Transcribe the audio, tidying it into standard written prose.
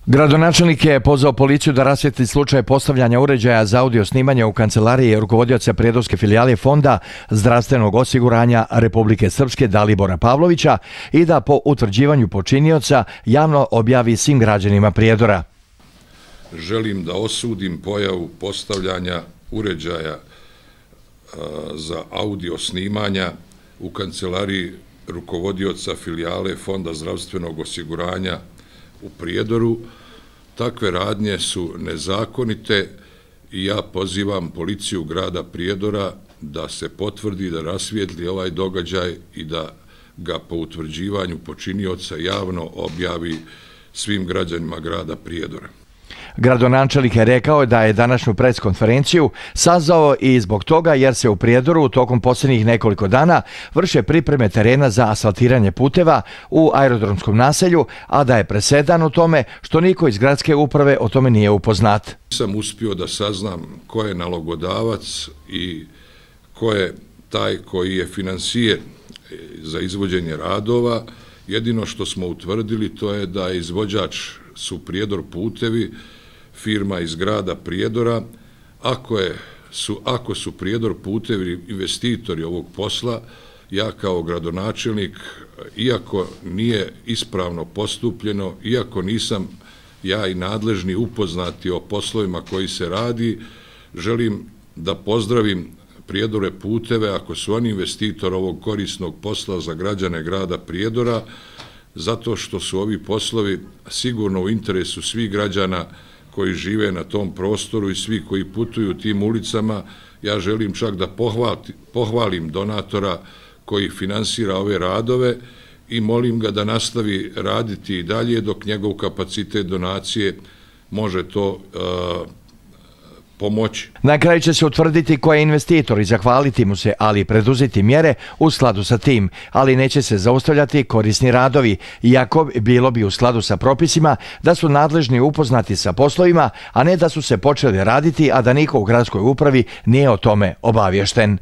Gradonačelnik je pozvao policiju da rasvijetli slučaj postavljanja uređaja za audio snimanje u kancelariji rukovodioca prijedorske filijale Fonda zdravstvenog osiguranja Republike Srpske Dalibora Pavlovića i da po utvrđivanju počinioca javno objavi svim građanima Prijedora. Želim da osudim pojavu postavljanja uređaja za audio snimanja u kancelariji rukovodioca filijale Fonda zdravstvenog osiguranja u Prijedoru. Takve radnje su nezakonite i ja pozivam policiju grada Prijedora da se potvrdi, da rasvijetli ovaj događaj i da ga po utvrđivanju počinioca javno objavi svim građanima grada Prijedora. Gradonačelnik je rekao da je današnju preskonferenciju sazvao i zbog toga jer se u Prijedoru tokom posljednjih nekoliko dana vrše pripreme terena za asfaltiranje puteva u aerodromskom naselju, a da je presedan u tome što niko iz gradske uprave o tome nije upoznat. Nisam uspio da saznam ko je nalogodavac i ko je taj koji je finansijer za izvođenje radova. Jedino što smo utvrdili to je da izvođač su Prijedor putevi, firma iz grada Prijedora. Ako su Prijedor putevi investitori ovog posla, ja kao gradonačelnik, iako nije ispravno postupljeno, iako nisam ja i nadležni upoznati o poslovima koji se radi, želim da pozdravim Prijedore puteve ako su oni investitor ovog korisnog posla za građane grada Prijedora, zato što su ovi poslovi sigurno u interesu svih građana koji žive na tom prostoru i svi koji putuju tim ulicama. Ja želim čak da pohvalim donatora koji finansira ove radove i molim ga da nastavi raditi i dalje dok njegov kapacitet donacije može to pomoći. Na kraju će se utvrditi ko je investitor i zahvaliti mu se, ali i preduzeti mjere u skladu sa tim, ali neće se zaustavljati korisni radovi, iako bilo bi u skladu sa propisima da su nadležni upoznati sa poslovima, a ne da su se počeli raditi, a da niko u gradskoj upravi nije o tome obaviješten.